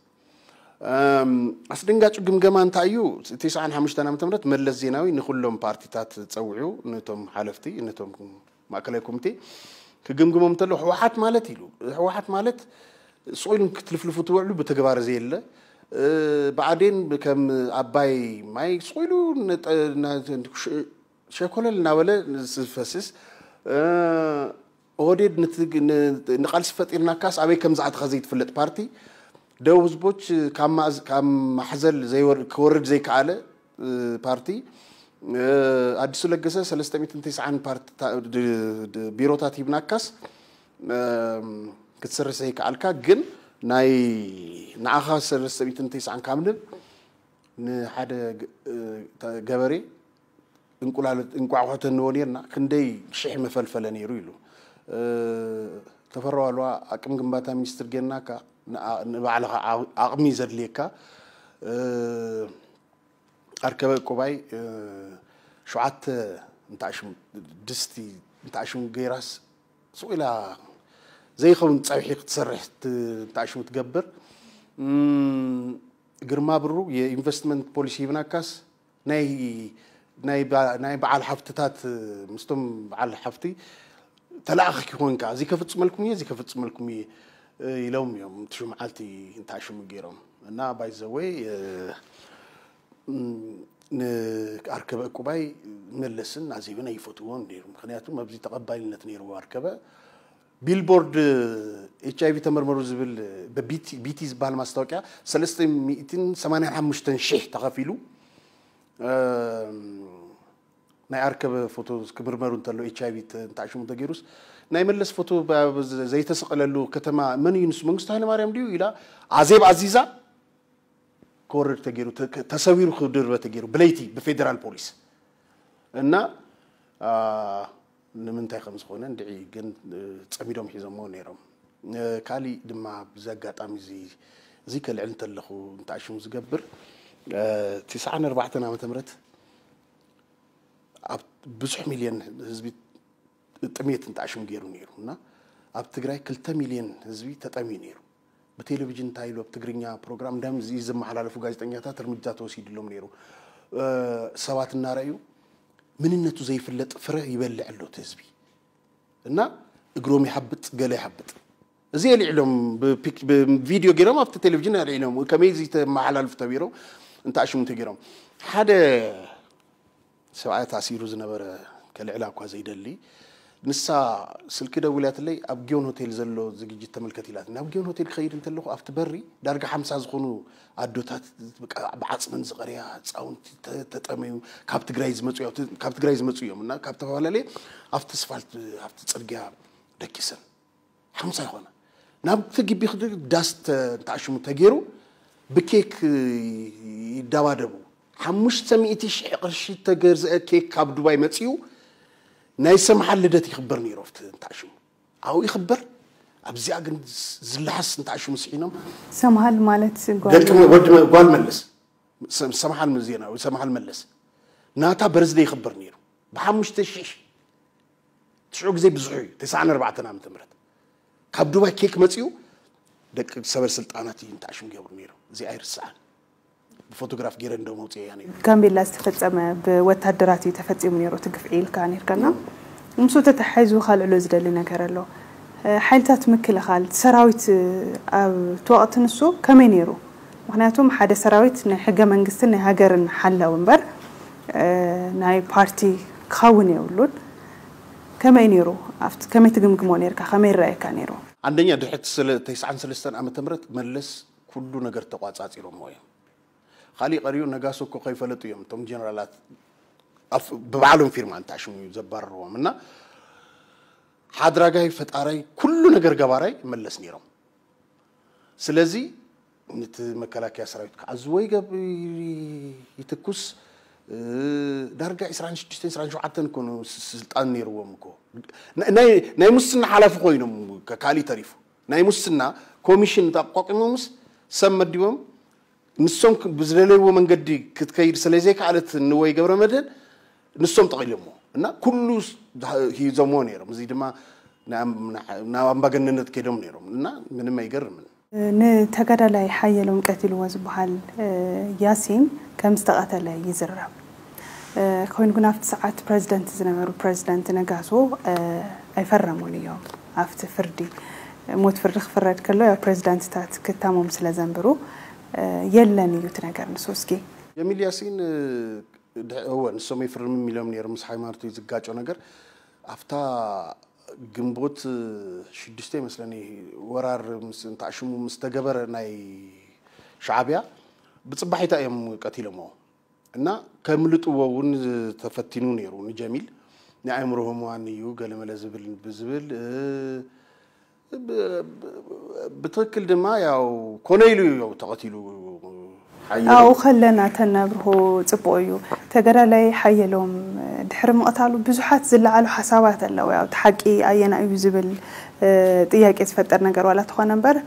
ኣስደንጋጩ ግምገማ እንታይ እዩ? ትስዓን ሓሙሽተን ዓመተ ምህረት መለስ ዜናዊ ንኩሎም ፓርቲታት ፀዊዑ ነቶም ሓለፍቲ ነቶም ማእከላይ ኮሚቴ ክግምግሞም እንተሎ ህወሓት ማለት ኢሉ ህወሓት ማለት ስቑ ኢሉ ክትልፍልፉ ትውዕሉ ብተግባር ዘየለ ብኣዴን ከም ኣባይ ማይ ስቑ ኢሉ ሸኮለል እናበለ ዝፈስስ ኦህዴድ ንቃልሲ ፈጢርናካስ ኣበይ ከም ዝኣተኸ ዘይትፍለጥ ፓርቲ ደቡብ ህዝቦች ካብ ማሕዘል ክወርድ ዘይከኣለ ፓርቲ ኣዲሱ ለገሰ ሰለስተ ሚእትን ተስዓን ቢሮታት ሂብናካስ ክትሰርሕ ዘይከኣልካ ግን ናይ ንዓኻ ሰለስተ ሚእትን ተስዓን ካብ ንብ ንሓደ ገበሬ እንቋቑሖ ተንዎ ነርና ክንደይ ሽሕ መፈልፈለ ነይሩ ኢሉ። ተፈራ ዋልዋ ኣቅም ግንባታ ሚኒስትር ጌርናካ ንባዕልኻ ኣቕሚ ዘድልየካ ኣርከበ ዕቁባይ ሸውዓተ እንተኣሽሙ ድስቲ እንተኣሽሙ ገይራስ ስቕ ኢላ ዘይኸውን ፀብሒ ክትሰርሕ እንተኣሽሙ ትገብር። ግርማ ብሩ የኢንቨስትመንት ፖሊሲ ሂብናካስ ናይ በዓል ሃፍትታት ምስቶም በዓል ሃፍቲ ተላኣኺ ኮንካ እዚ ከፍፅመልኩም እየ እዚ ከፍፅመልኩም እየ ኢሎም እዮም እቲ ሽምዓልቲ እንተኣሽሙ ገይሮም እና ባይዘወይ ንኣርከበ ዕቁባይ መለስን ኣዜብን ኣይፈትዎም ነይሩ ምክንያቱ ኣብዚ ተቐባልነት ነይርዎ ኣርከበ ቢልቦርድ ኤች ኣይቪ ተመርመሩ ዝብል ቢቲ ዝበሃል ማስታወቂያ ሰለስተ ሚእትን ሰማንያን ሓሙሽተን ሺሕ ተኸፊሉ ናይ ኣርከበ ፎቶ ክምርመሩ እንተሎ ኤች ኣይቪ እንተኣሽሙ ተገይሩስ ናይ መለስ ፎቶ ዘይተሰቐለሉ ከተማ መን እዩ ንሱ መንግስቱ ሃይለማርያም ድዩ ኢላ ኣዜብ ኣዚዛ ክወርድ ተገይሩ ተሰዊሩ ክድርበ ተገይሩ ብለይቲ ብፌደራል ፖሊስ እና ንምንታይ ከም ዝኾነ እንድዒ ግን ፀሚዶም ሒዞሞ ነይሮም ካሊእ ድማ ብዚ ኣጋጣሚ እዚ እዚ ከልዕል እንተለኹ እንተኣሽሙ ዝገብር ትስዓን ኣርባዕተን ዓመተ ምህረት ኣብ ብዙሕ ሚልዮን ህዝቢ ጥሜት እንተኣሽሙ ገይሩ ነይሩ እና ኣብ ትግራይ ክልተ ሚልዮን ህዝቢ ተጠምዩ ነይሩ ብቴሌቪዥን እንታይ ኢሉ ኣብ ትግርኛ ፕሮግራም እንዳም እዚ ዘመሓላለፉ ጋዜጠኛታት እርምጃ ተወሲድሎም ነይሩ ሰባት እናረኣዩ ምንነቱ ዘይፍለጥ ፍረ ይበልዕ ኣሎ እቲ ህዝቢ እና እግሮም ይሓብጥ ገለ ይሓብጥ እዚ የልዕሎም ብቪዲዮ ገይሮም ኣብቲ ቴሌቪዥን ኣልዒሎም ከመይ እዚ ተመሓላልፉ ተቢሮም እንተኣሽሙ ተገይሮም ሓደ ሰብኣይ ታሲሩ ዝነበረ ከልዕላ እኳ ዘይደሊ፣ ንሳ ስልኪ ደዊላትለይ ኣብ ጊዮን ሆቴል ዘሎ ዝግጅት ተመልከት ኢላት። ናብ ጊዮን ሆቴል ክኸይድ እንተለኹ ኣብቲ በሪ ዳርጋ ሓምሳ ዝኾኑ ኣዶታት በቃ ብዓፅመን ዝቐርያ ህፃውንቲ ተ- ተጠመዩ ካብ ትግራይ ዝመፁ እዮም። ካብ ትግራይ ዝመፁ እዮም እና ካብ ተፈላለየ ኣብቲ ስፋልት ኣብቲ ፅርግያ ደኪሰን ሓምሳ ይኾና ናብቲ ግቢ ክድ ዳስ ተ- እንተኣሽሙ ተገይሩ ብኬክ ይደባደቡ። ሓሙሽተ ሚእቲ ሺሕ ቅርሺ ተገዝአ ኬክ ካብ ዱባይ መፅኡ ናይ ሰምሓል ልደት ይኽበር ነይሩ ኣብቲ እንተኣሽሙ ኣብኡ ይኽበር ኣብዚኣ ግን ዝለሓስ እንተኣሽሙ ስሒኖም ሰምሃል ማለት ጓል ደቂ ወዲ ጓል መለስ ሰምሓል ዜና ሰምሓል መለስ ናታ በርዝደ ይኽበር ነይሩ ብሓሙሽተ ሺሕ ትሽዑ ግዜ ብዙሑ እዩ ተስዓን ኣርባዕተን ዓመተ ምህረት ካብ ዱባይ ኬክ መፂኡ ደቂ ሰበ ስልጣናት እዩ እንተኣሽሙ ገብሩ ነይሩ እዚ ኣይርስዓን ብፎቶግራፍ ገይረ እንዶ መውፅአ እያ ነይሩ ጋምቤላ ዝተፈጸመ ብወታደራት እዩ ተፈጺሙ ነይሩ እቲ ግፍዒ ኢልካ ነርካና ምስ ተተሓይዙ ካልዕሎ ዝደሊ ነገር ኣሎ ሓይልታት ምክልኻል ሰራዊት ኣብ ተወቕቲ ንሱ ከመይ ነይሩ ምክንያቱም ሓደ ሰራዊት ናይ ሕገ መንግስትን ናይ ሃገርን ሓላው እምበር ናይ ፓርቲ ክኸውን የብሉን ከመይ ነይሩ ኣብቲ ከመይ ትግምግሞ ነርካ ከመይ ይረኣየካ ነይሩ አንደኛ ድሕቲ ተስዓን ሰለስተን ዓመተ ምህረት መለስ ኩሉ ነገር ተቋጻጺሮሞ እዮም ካሊእ ቀሪኡ ነጋሶ እኮ ከይፈለጡ እዮም እቶም ጀነራላት ብባዕሎም ፊርማ እንተኣሽሙ እዩ ዘባረርዎም እና ሓድራጋይ ፈጣራይ ኩሉ ነገር ገባራይ መለስ ነይሮም ስለዚ ነቲ መከላከያ ሰራዊት ክዓዝዎ ይትኩስ ዳርጋ 26 27 ኮኑ ስልጣን ነይርዎም እኮ ናይ ሙስና ሓላፊ ኮይኖም ካሊእ ተሪፉ ናይ ሙስና ኮሚሽን ኣቋቂሞምስ ሰብ መዲቦም ንሶም ብዝደለይዎ መንገዲ ክትከይድ ስለዘይከኣለት ንወይ ገብረ መድህን ንሶም ጠቒሎሞ እና ኩሉ ሂዞምዎ ነይሮም እዚ ድማ ናብ ኣምባገነነት ከይዶም ነይሮም እና ምንም ኣይገርምን ንተጋዳላይ ሓየሎም ቀቲልዎ ዝበሃል ያሲን ከም ዝተቐተለ ይዝረብ ኮይኑ ግን ኣብቲ ሰዓት ፕረዚደንት ዝነበሩ ፕረዚደንት ነጋሶ ኣይፈረሙን እዮም ኣብቲ ፍርዲ ሞት ፍርዲ ክፍረድ ከሎ ያው ፕረዚዳንትታት ክታሞም ስለ ዘንብሩ የለን እዩ እቲ ነገር ንሱ እስኪ ጀሚል ያሲን እወ ንሶም ኣይፍርምም ኢሎም ነይሮም ምስ ሃይማኖት ዝጋጮ ነገር ኣብታ ግንቦት ሽዱሽተ ይመስለኒ ወራር ምስ እንተኣሽሙ ምስ ተገበረ ናይ ሻዕቢያ ብፅባሒታ እዮም ቀቲሎሞ እና ከምልጥዎ እውን ተፈቲኑ ነይሩ ንጀሚል ናይ ኣእምሮ ህሙዋን እዩ ገለመለ ዝብል ብዝብል ብትክክል ድማ ያው ኮነ ኢሉ እዩ ተቐቲሉ ኣብኡ ከለና ተናብርሆ ፅቡቅ እዩ ተገዳላይ ሓየሎም ድሕሪ ምቕታሉ ብዙሓት ዝለዓሉ ሓሳባት ኣለዉ ያው ሓቂ ኣየና እዩ ዝብል ጥያቄ ዝፈጥር ነገር ዋላ ተኾነ እምበር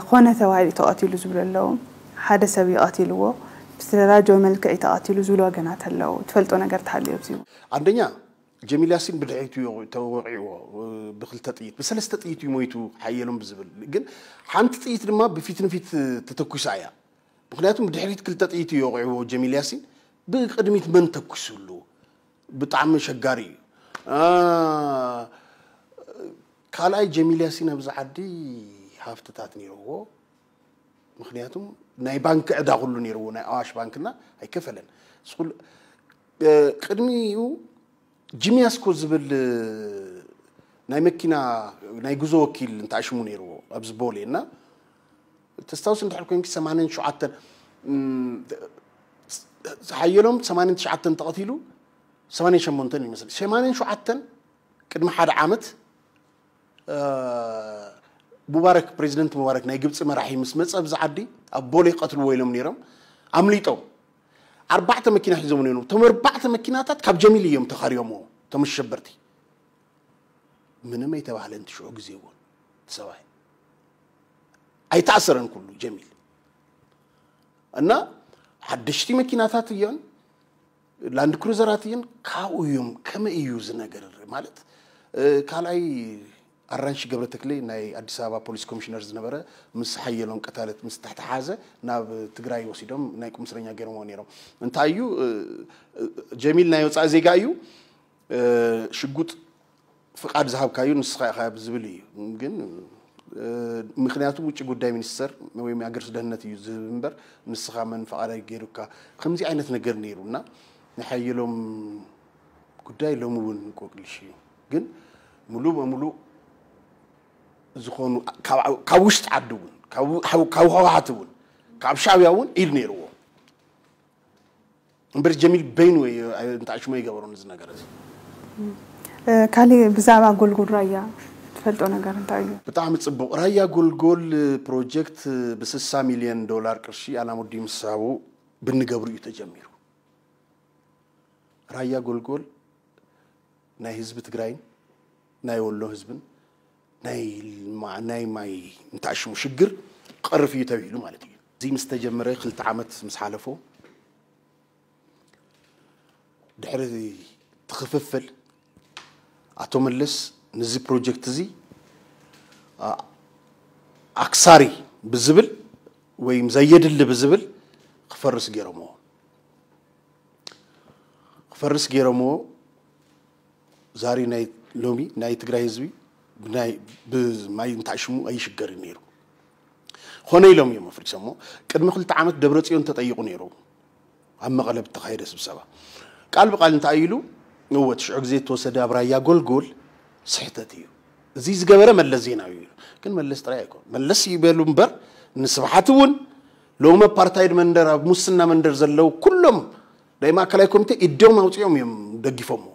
ኮነ ተባሂሉ ተቐቲሉ ዝብሉ ኣለዉ ሓደ ሰብ እዩ ቀቲልዎ ብዝተደራጀወ መልክዕ እዩ ተቐቲሉ ዝብሉ ወገናት ኣለዉ ትፈልጦ ነገር ተሃልዮ ኣብዚ አንደኛ ጀሚል ያሲን ብድሕሪቱ ተወቂዕዎ ብክልተ ጥይት ብሰለስተ ጥይት እዩ ሞይቱ ሓየሎም ብዝብል ግን ሓንቲ ጥይት ድማ ብፊት ንፊት ተተኩሳ እያ ምክንያቱም ብድሕሪት ክልተ ጥይት እዩ ወቂዕዎ ጀሚል ያሲን ብቅድሚት መን ተኩስሉ ብጣዕሚ ሸጋሪ እዩ ካልኣይ ጀሚል ያሲን ኣብዚ ዓዲ ሃፍትታት ነይርዎ ምክንያቱም ናይ ባንክ ዕዳ ኩሉ ነይርዎ ናይ ኣዋሽ ባንክና ኣይከፈለን ቅድሚኡ ጂምያስኮ ዝብል ናይ መኪና ናይ ጉዞ ወኪል እንተኣሽሙ ነይርዎ ኣብዚ ቦሌ እና ተስታውስ እንድሕር ኮንኪ ሰማንያን ሸውዓተን ሓየሎም ሰማንያን ትሽዓተን ተቐቲሉ ሰማንያን ሸሞንተን ይመስል ሰማንያን ሸውዓተን ቅድሚ ሓደ ዓመት ሙባረክ ፕሬዚደንት ሙባረክ ናይ ግብፂ መራሒ ምስ መፀ ኣብዚ ዓዲ ኣብ ቦሌ ቀትልዎ ኢሎም ነይሮም ኣምሊጦም ኣርባዕተ መኪና ሒዞም ነይሮም እቶም ኣርባዕተ መኪናታት ካብ ጀሚል እዮም ተኻርዮምዎ እቶም ኣሸበርቲ ምንም ኣይተባህለን ትሽዑ ግዜ እውን ሰብኣይ ኣይተኣሰረን ኩሉ ጀሚል እና ሓደሽቲ መኪናታት እዮን ላንድ ክሩዘራት እየን ካብኡ እዮም ከመይ እዩ እዚ ነገር ማለት ካልኣይ ኣራንሺ ገብረ ተክሌ ናይ ኣዲስ ኣበባ ፖሊስ ኮሚሽነር ዝነበረ ምስ ሓየሎም ቀታለት ምስ ተተሓዘ ናብ ትግራይ ወሲዶም ናይ ቁምስረኛ ገይሮምዎ ነይሮም እንታይ እዩ ጀሚል ናይ ወፃኢ ዜጋ እዩ ሽጉጥ ፍቃድ ዝሃብካዩ ንስኻ ኢኻ ዝብል እዩ ግን ምክንያቱ ውጭ ጉዳይ ሚኒስተር ወይ ኣገርስ ደህንነት እዩ ዝህብ እምበር ንስኻ መን ፈቃዳይ ገይሩካ ከምዚ ዓይነት ነገር ነይሩ እና ናይ ሓየሎም ጉዳይ ሎሚ እውን እንቆቅልሽ እዩ። ግን ሙሉ በሙሉ ዝኾኑ ካብ ውሽጢ ዓዲ እውን ካብ ህወሓት እውን ካብ ሻዕብያ እውን ኢድ ነይርዎ። እምበር ጀሚል በይኑ እንታይ ሽሞ ይገበሩ እዚ ነገር እዚ። ካሊእ ብዛዕባ ጎልጎል ራያ ትፈልጦ ነገር እንታይ እዩ? ብጣዕሚ ጽቡቕ። ራያ ጎልጎል ፕሮጀክት ብ60 ሚልዮን ዶላር ቅርሺ ኣላሙዲ ምስ ሃቡ ብንገብሩ እዩ ተጀሚሩ። ራያ ጎልጎል ናይ ህዝቢ ትግራይን ናይ ወሎ ህዝብን ናይ ማይ እንታይ ሽሙ ሽግር ክቐርፍ እዩ ተባሂሉ ማለት እዩ። እዚ ምስ ተጀመረ ክልተ ዓመት ምስ ሓለፎ ድሕሪ እቲ ክፍፍል ኣቶ መለስ ነዚ ፕሮጀክት እዚ ኣክሳሪ ብዝብል ወይም ዘየድሊ ብዝብል ክፈርስ ገይሮምዎ። ክፈርስ ገይሮምዎ። ዛሬ ናይ ሎሚ ናይ ትግራይ ህዝቢ ብማይ እንታይ ሽሙ ኣይሽገርን ነይሩ። ኾነ ኢሎም እዮም ኣፍሪሶሞ። ቅድሚ ክልተ ዓመት ደብረፅዮን ተጠይቑ ነይሩ ኣብ መቐለ ብተኻየደ ስብሰባ ቃል ብቃል እንታይ ኢሉ? እወ ትሽዑ ግዜ ዝተወሰደ ኣብ ራያ ጎልጎል ስሕተት እዩ። እዚ ዝገበረ መለስ ዜናዊ እዩ። ግን መለስ ጥራይ ኣይኮን መለስ ይበሉ እምበር ንስብሓት እውን ሎም ኣፓርታይድ መንደር ኣብ ሙስና መንደር ዘለዉ ኩሎም ናይ ማእከላይ ኮሚቴ ኢዶም ኣውፂኦም እዮም ደጊፎምዎ።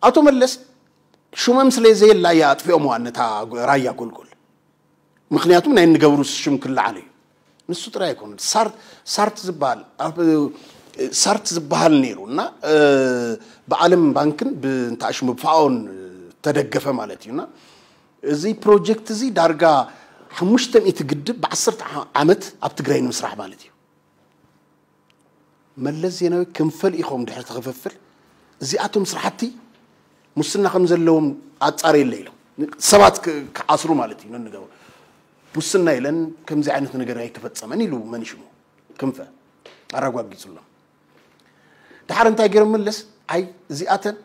ኣቶ መለስ ሽሞም ስለ ዘየላ እያ ኣጥፊኦምዋ ነታ ራያ ጎልጎል። ምክንያቱም ናይ እንገብሩ ሽም ክለዓል እዩ። ንሱ ጥራይ ኣይኮኑን። ሳርት ዝበሃል ሳርት ዝበሃል ነይሩ እና ብዓለም ባንክን ብእንታሽሙ ብፋኦን ተደገፈ ማለት እዩ እና እዚ ፕሮጀክት እዚ ዳርጋ ሓሙሽተ ሚእቲ ግድብ ብዓሰርተ ዓመት ኣብ ትግራይ ንምስራሕ ማለት እዩ። መለስ ዜናዊ ክንፈል ኢኹም ድሕሪ ትኽፍፍል እዚኣቶም ስራሕቲ ሙስና ከም ዘለዎም ኣጻረየለ ኢሎም ሰባት ክዓስሩ ማለት እዩ። ነንገሩ ሙስና የለን ከምዚ ዓይነት ነገር ኣይተፈጸመን ኢሉ መን ሽሙ ክንፈ ኣረጋጊጹሎም። ድሓር እንታይ ገይሮም መለስ ኣይ እዚኣተን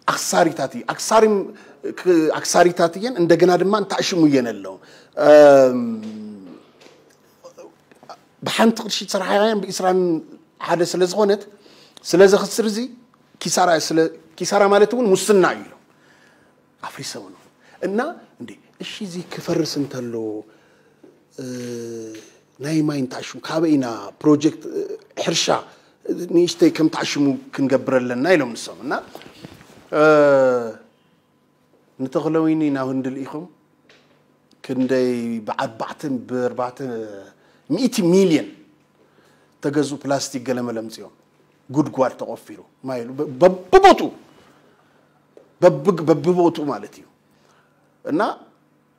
ኣክሳሪታት እዩ ኣክሳሪ ኣክሳሪታት እየን እንደገና ድማ እንታሽሙ እየን ኣለዉ ብሓንቲ ቅርሺ ዝሰራሓያን ብኢስራን ሓደ ስለ ዝኾነት ስለ ዘኽስር እዚ ኪሳራ ስለ ኪሳራ ማለት እውን ሙስና እዩ ኢሎም ኣፍሪሰው ነው እና እንዴ እሺ እዚ ክፈርስ እንተሎ ናይ ማይ እንታሽሙ ካበይ ኢና ፕሮጀክት ሕርሻ ንእሽተይ ከም ታሽሙ ክንገብር ኣለና ኢሎም ንሶም እና ንተኽለዊኒ ናብ ህንዲ ልኢኹም ክንደይ ብኣርባዕተ ብኣርባዕተ ሚእቲ ሚልዮን ተገዙ ፕላስቲክ ገለመለ ምፅኦም ጉድጓድ ተቆፊሩ ማይ በብቦቱ በብቦቱ ማለት እዩ እና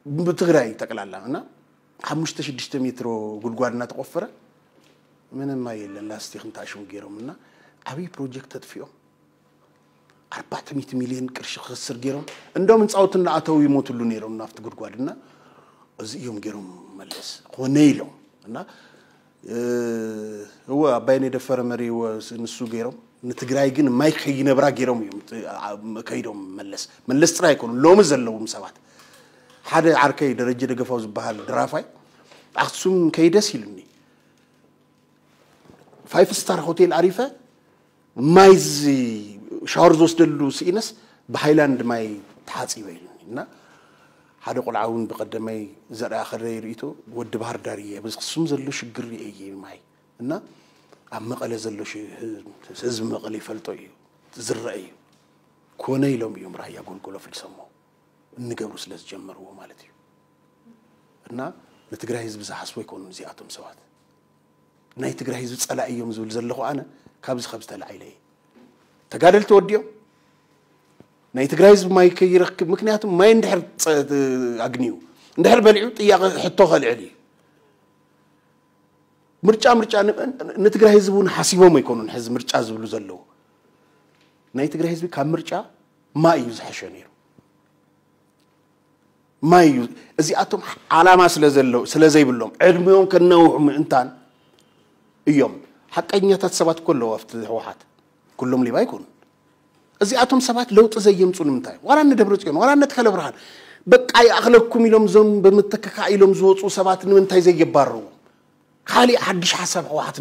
ብትግራይ ጠቅላላ እና ሓሙሽተ ሽዱሽተ ሜትሮ ጉድጓድ እናተቆፈረ ምንም ማይ የለን። ላስቲክ እንታሽሙ ገይሮም እና ዓብይ ፕሮጀክት ተጥፊኦም ኣርባዕተ ሚእቲ ሚልዮን ቅርሺ ክኸስር ገይሮም እንደውም ህንፃውቲ እናኣተው ይሞትሉ ነይሮም ናብቲ ጉድጓድ እና እዚ እዮም ገይሮም መለስ ኮነ ኢሎም እና እወ ኣባይን የደፈረ መሪዎ ንሱ ገይሮም ንትግራይ ግን ማይ ከይነብራ ገይሮም እዮም ከይዶም መለስ መለስ ጥራይ ኣይኮኑ ሎሚ ዘለዎም ሰባት ሓደ ዓርከይ ደረጀ ደገፋው ዝበሃል ድራፋይ ኣክሱም ከይደስ ኢሉኒ ፋይፍ ስታር ሆቴል ኣሪፈ ማይ ሻወር ዝወስደሉ ስኢነስ ብሃይላንድ ማይ ተሓፂበ ኢሉኒ እና ሓደ ቆልዓ እውን ብቀደመይ ዘርኣ ከረይ ርእቶ ወዲ ባህር ዳር እየ በዚ ክሱም ዘሎ ሽግር እየ ማይ እና ኣብ መቐለ ዘሎ ህዝቢ መቐለ ይፈልጦ እዩ ዝረአ እዩ ኮነ ኢሎም እዮም ራያ ጎልጎሎ ፍልሰሞ እንገብሩ ስለ ዝጀመርዎ ማለት እዩ እና ንትግራይ ህዝቢ ዝሓስቦ ይኮኑ እዚኣቶም ሰባት ናይ ትግራይ ህዝቢ ፀላኢ እዮም ዝብል ዘለኹ ኣነ ካብዚ ካብዚ ተላዒለ እየ ተጋደልቲ ወዲኦም ናይ ትግራይ ህዝቢ ማይ ከይረክብ ምክንያቱ ማይ እንድሕር ኣግንዩ እንድሕር በሊዑ ጥያቄ ሕቶ ከልዕል እዩ ምርጫ ምርጫ ንትግራይ ህዝቢ እውን ሓሲቦም ኣይኮኑን ሕዚ ምርጫ ዝብሉ ዘለዉ ናይ ትግራይ ህዝቢ ካብ ምርጫ ማይ እዩ ዝሐሸ ነይሩ ማይ እዩ እዚኣቶም ዓላማ ስለዘለው ስለዘይብሎም ዕድሜኦም ከነውሑ ምእንታን እዮም ሓቀኛታት ሰባት እኮ ኣለዉ ኣብቲ ህወሓት ኩሎም ሌባ ኣይኮኑን እዚኣቶም ሰባት ለውጢ ዘየምፁ ንምንታይ ዋላ እነ ደብረፅዮን ዋላ እነ ተኸለ ብርሃን በቃ ይኣኽለኩም ኢሎም ዞም ብምትክካእ ኢሎም ዝወፁ ሰባት ንምንታይ ዘየባርሩ ካሊእ ሓድሽ ሓሳብ ህወሓት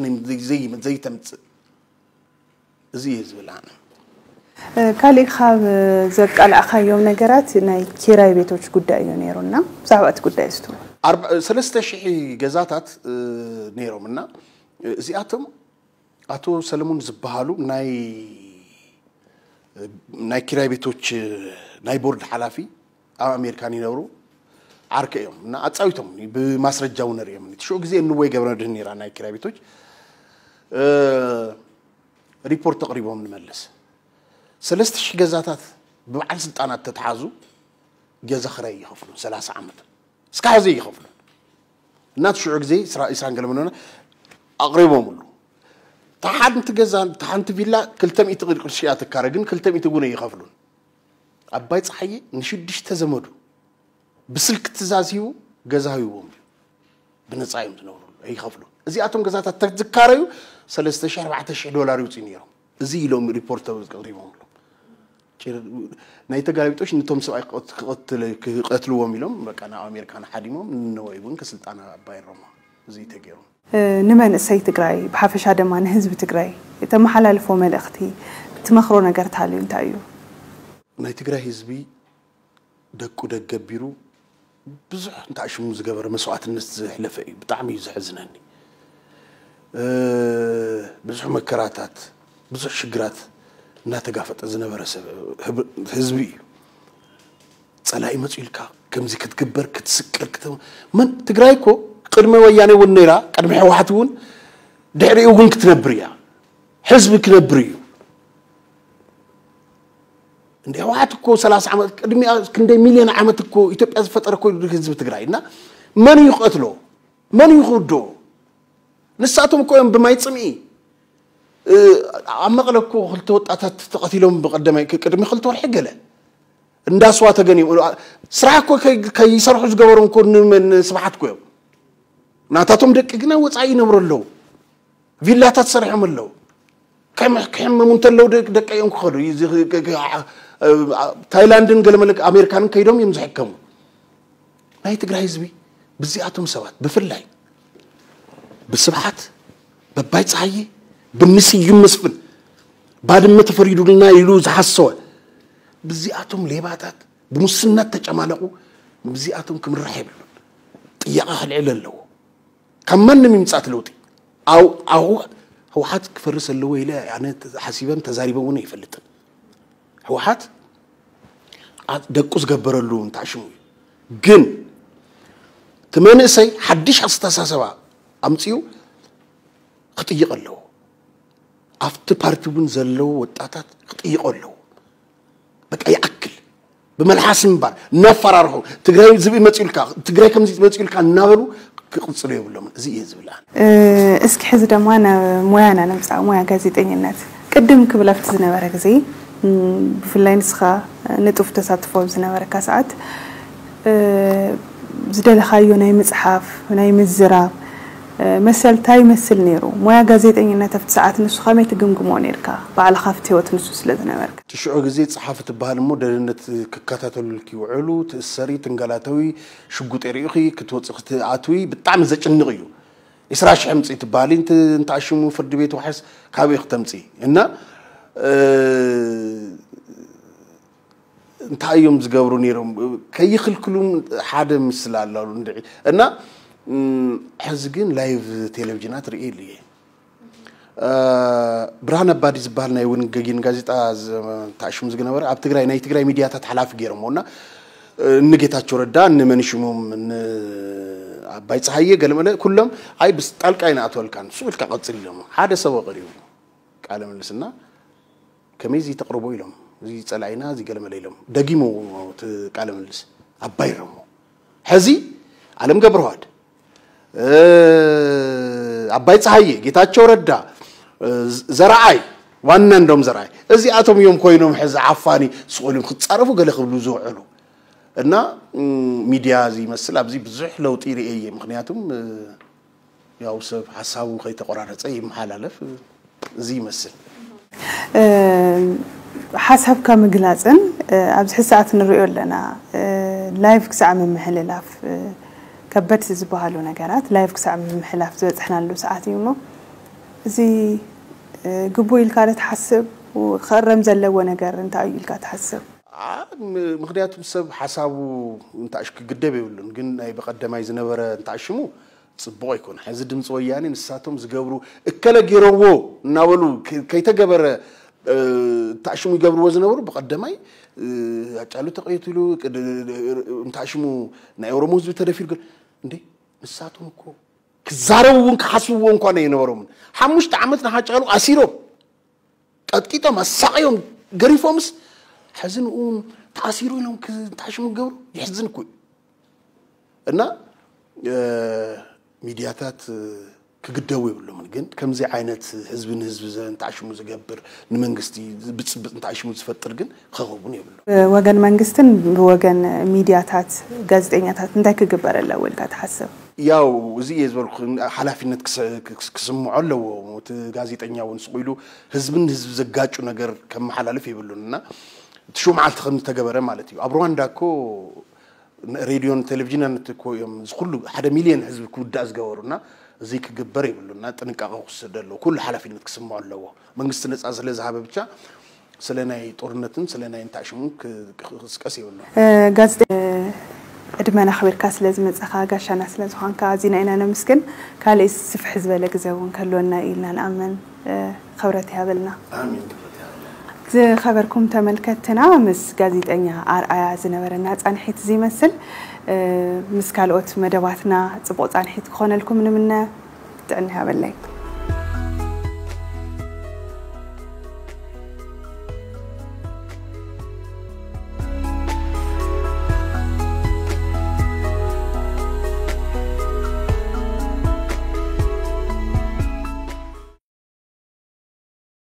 ዘይተምፅእ እዚ እየ ዝብል ኣነ ካልእ ካብ ዘቃላዕካዮም ነገራት ናይ ኪራይ ቤቶች ጉዳይ እዩ ነይሩና፣ ብዛዕባ እቲ ጉዳይ እስቱ። ሰለስተ ሽሕ ገዛታት ነይሮም እና እዚኣቶም ኣቶ ሰለሙን ዝበሃሉ ናይ ናይ ኪራይ ቤቶች ናይ ቦርድ ሓላፊ ኣብ ኣሜሪካን ይነብሩ፣ ዓርከ እዮም እና ኣፃዊቶም ብማስረጃ እውን ንሪኦም። እቲ ሽዑ ግዜ እንወይ ገብረ መድህን ነይራ ናይ ኪራይ ቤቶች ሪፖርት ኣቕሪቦም ንመለስ። ሰለስተ ሽሕ ገዛታት ብበዓል ስልጣናት ተተሓዙ ገዛ ክራይ ይኸፍሉ ሰላሳ ዓመት እስካ ሕዚ ይኸፍሉ። እናቲ ሽዑ ግዜ ኢስራን ገለመለና ኣቕሪቦምሉ። ተሓንቲ ገዛ ተሓንቲ ቪላ ክልተ ሚእቲ ቅርሺ እያ ትካረ፣ ግን ክልተ ሚእቲ እውን ኣይኸፍሉን። ኣባይ ፀሓየ ንሽዱሽተ ዘመዱ ብስልክ ትእዛዝ ሂቡ ገዛ ሂቦም እዩ። ብነፃ እዮም ዝነብሩ ኣይኸፍሉን። እዚኣቶም ገዛታት ተዝካረዩ ሰለስተ ሽሕ ኣርባዕተ ሽሕ ዶላር ይውፅኡ ነይሮም። እዚ ኢሎም ሪፖርት ኣቕሪቦምሎም። ናይ ተጋላቢጦሽ ነቶም ሰብኣይ ክቐትልዎም ኢሎም በቃ ናብ ኣሜሪካ ሓዲሞም ንነወይ እውን ከስልጣና ኣባይሮማ። እዚ ተገይሩ። ንመንእሰይ ትግራይ ብሓፈሻ ድማ ንህዝቢ ትግራይ እተመሓላልፎ መልእኽቲ ትመኽሮ ነገር ታልዩ እንታይ እዩ? ናይ ትግራይ ህዝቢ ደቁ ደገቢሩ ብዙሕ እንታሽሙ ዝገበረ መስዋዕትነት ዝሕለፈ እዩ። ብጣዕሚ እዩ ዘሕዝነኒ። ብዙሕ መከራታት ብዙሕ ሽግራት እናተጋፈጠ ዝነበረ ህዝቢ እዩ። ፀላኢ መፅኡ ኢልካ ከምዚ ክትግበር ክትስቀል ክተ መን ትግራይ እኮ ቅድሚ ወያኔ እውን ነይራ፣ ቅድሚ ሕወሓት እውን ድሕሪኡ እውን ክትነብር እያ። ህዝቢ ክነብር እዩ። እንደ ህወሓት እኮ ሰላሳ ዓመት ቅድሚኣ ክንደይ ሚልዮን ዓመት እኮ ኢትዮጵያ ዝፈጠረ እኮ ህዝቢ ትግራይ እና መን እዩ ክቐትሎ? መን እዩ ክውድኦ? ንሳቶም እኮ እዮም ብማይ ፅምኢ ኣብ መቐለ እኮ ክልተ ወጣታት ተቐቲሎም ብቀደማይ ቅድሚ ክልተ ወርሒ ገለ እንዳስዋ ተገኒዮም ስራሕ እኮ ከይሰርሑ ዝገበሮም እኮ ንስብሓት እኮ እዮም። ናታቶም ደቂ ግና ወፃኢ ይነብሩ ኣለዉ። ቪላታት ሰሪሖም ኣለዉ። ክሕመሙ እንተለዉ ደቂ እዮም ክኸዱ። ታይላንድን ገለመለ ኣሜሪካንን ከይዶም እዮም ዝሕከሙ። ናይ ትግራይ ህዝቢ ብዚኣቶም ሰባት ብፍላይ ብስብሓት በባይ ፀሃየ ብንስዩም መስፍን ባድመ ተፈሪዱልና ኢሉ ዝሓሰወ ብዚኣቶም ሌባታት ብሙስና ተጨማለቑ። ብዚኣቶም ክምራሕ የብሉን። ጥያቐ ክልዕል ኣለዎ። ካብ ማንም ይምፃእ ለውጢ ኣው ኣው ህወሓት ክፈርስ ኣለዎ ኢለ ኣነ ሓሲበን ተዛሪበ እውን ኣይፈልጥን። ህወሓት ደቁ ዝገበረሉ እንታሽሙ እዩ። ግን እቲ መንእሰይ ሓድሽ ኣስተሳሰባ ኣምፅኡ ክጥይቕ ኣለዎ። ኣብቲ ፓርቲ እውን ዘለዉ ወጣታት ክጥይቑ ኣለዎ። በቃ ይኣክል ብመልሓስ ምባል እናፈራርሑ ትግራይ ዝብኢ መፅኡልካ ትግራይ ከምዚ መፅኡልካ እናበሉ ክቕፅሉ የብሎምን። እዚ እየ ዝብል ኣነ። እስኪ ሕዚ ድማ ናብ ሞያና ንምፃእ፣ ሞያ ጋዜጠኝነት ቅድም ክብል ኣብቲ ዝነበረ ግዜ ብፍላይ ንስኻ ንጡፍ ተሳትፎ ኣብ ዝነበረካ ሰዓት ዝደለኻዮ ናይ ምፅሓፍ ናይ ምዝራብ መሰል እንታይ ይመስል ነይሩ? ሞያ ጋዜጠኝነት ኣብቲ ሰዓት ንሱ ከመይ ትግምግሞ ነይርካ? ባዕልኻ ኣብቲ ህይወት ንሱ ስለ ዝነበርካ። እቲ ሽዑ ግዜ ፀሓፊ ትበሃል እሞ ደህንነት ክከታተሉልኪ ይውዕሉ፣ ትእሰሪ፣ ትንገላተዊ፣ ሽጉጥ የርእዩኺ፣ ክትወፂ ክትኣትዊ ብጣዕሚ ዘጭንቕ እዩ። ዒስራ ሽሕ ምፅኢ ትበሃሊ እንተኣሽሙ ፍርዲ ቤት ዋሕስ ካበይ ክተምፅኢ እና እንታይ እዮም ዝገብሩ ነይሮም ከይኽልክሉም ሓደ ምስላ ኣሎ እንድዒ እና ሕዚ ግን ላይቭ ቴሌቪዥናት ርእየ ኢሉ እየ። ብርሃን ኣባዲ ዝበሃል ናይ እውን ገጊን ጋዜጣ ተኣሽሙ ዝነበረ ኣብ ትግራይ ናይ ትግራይ ሚዲያታት ሓላፊ ገይሮምዎ እና ንጌታቸው ረዳ ንመንሽሞም ንኣባይ ፀሃየ ገለመለ ኩሎም ኣይ ብጣልቃ ይንኣትወልካን ስቕ ኢልካ ቀፅል ኢሎም ሓደ ሰብ ቀሪቡ ቃለ ምልልስና ከመይ እዚ ተቕርቦ ኢሎም እዚ ፀላኢና እዚ ገለመለ ኢሎም ደጊሞ እቲ ቃለ ምልልስ ኣባይ ረሞ ሕዚ ኣለም ገብረዋድ ኣባይ ፀሃየ ጌታቸው ረዳ ዘረኣይ ዋና እንደም ዘረኣይ እዚኣቶም እዮም ኮይኖም ሕዚ ዓፋኒ ስቕ ኢሎም ክፃረፉ ገለ ክብሉ ዝውዕሉ እና ሚድያ እዚ ይመስል ኣብዚ ብዙሕ ለውጢ ርእየ ምክንያቱም ያው ሰብ ሓሳቡ ከይተቆራረፀ ይመሓላለፍ እዚ ይመስል። ሓሳብካ ምግላፅን ኣብዚ ሕዚ ሰዓት ንሪኦ ኣለና ላይቭ ክሳዕ ምምሕልላፍ ከበድቲ ዝበሃሉ ነገራት ላይቭ ክሳዕ ምምሕላፍ ዝበፅሕናሉ ሰዓት እዩ እሞ እዚ ግቡእ ኢልካ ዶ ትሓስብ? ክእረም ዘለዎ ነገር እንታይ እዩ ኢልካ ትሓስብ? ምክንያቱም ሰብ ሓሳቡ እንታሽ ክግደብ የብሉን፣ ግን ናይ በቀደማይ ዝነበረ እንታሽሙ ፅቡቅ ኣይኮነ። ሕዚ ድምፂ ወያኔ ንሳቶም ዝገብሩ እከለ ገይረዎ እናበሉ ከይተገበረ እንታሽሙ ይገብርዎ ዝነበሩ፣ በቀደማይ ኣጫሉ ተቀይትሉ እንታሽሙ ናይ ኦሮሞ ህዝቢ ተደፊሩ። ግን እንዴ ንሳቶም እኮ ክዛረቡ እውን ክሓስብዎ እንኳን ኣይነበሮምን። ሓሙሽተ ዓመት ንሓጫሉ ኣሲሮም ቀጥቂጦም ኣሳቅዮም ገሪፎምስ ሕዚ ንኡ ተኣሲሩ ኢሎም ክታሽሙ ገብሩ የሕዝን እኮ እዩ። እና ሚድያታት ክግደቡ የብሎምን። ግን ከምዚ ዓይነት ህዝቢ ንህዝቢ ዘንታሽሙ ዝገብር ንመንግስቲ ብፅብፅ እንታሽሙ ዝፈጥር ግን ክኸውን የብሉ። ብወገን መንግስትን ብወገን ሚድያታት ጋዜጠኛታት እንታይ ክግበር ኣለዎ ኢልካ ትሓስብ? ያው እዚ እየ ዝበልኩ ሓላፊነት ክስምዖ ኣለዎ። እቲ ጋዜጠኛ እውን ስቑ ኢሉ ህዝብን ህዝቢ ዘጋጩ ነገር ከመሓላልፍ የብሉን እና እቲ ሽው መዓልቲ ከም ዝተገበረ ማለት እዩ። ኣብ ሩዋንዳ እኮ ሬድዮን ቴሌቪዥን ነቲ እኮ እዮም እዚ ኩሉ ሓደ ሚልዮን ህዝቢ ክውዳእ ዝገበሩና እዚ ክግበር የብሉና። ጥንቃቄ ክወስድ ኣለዎ። ኩሉ ሓላፊነት ክስምዖ ኣለዎ። መንግስቲ ነፃ ስለ ዝሃበ ብቻ ስለ ናይ ጦርነትን ስለ ናይ እንታሽሙን ክስቀስ የብሉ። ጋዜጠ ዕድመና ኣኽቢርካ ስለ ዝመጻኻ ጋሻና ስለ ዝኾንካ ኣዚና ኢና ነመስግን። ካልእ ስፍሕ ዝበለ ግዜ እውን ከልወና ኢልና ንኣምን። ክብረት ይሃበልና። ዝኸበርኩም ተመልከትና ምስ ጋዜጠኛ ኣርኣያ ዝነበረና ፃንሒት እዚ ይመስል። ምስ ካልኦት መደባትና ፅቡቕ ፃንሒት ክኾነልኩም ንምነ። ጥዕና ይሃበለይ።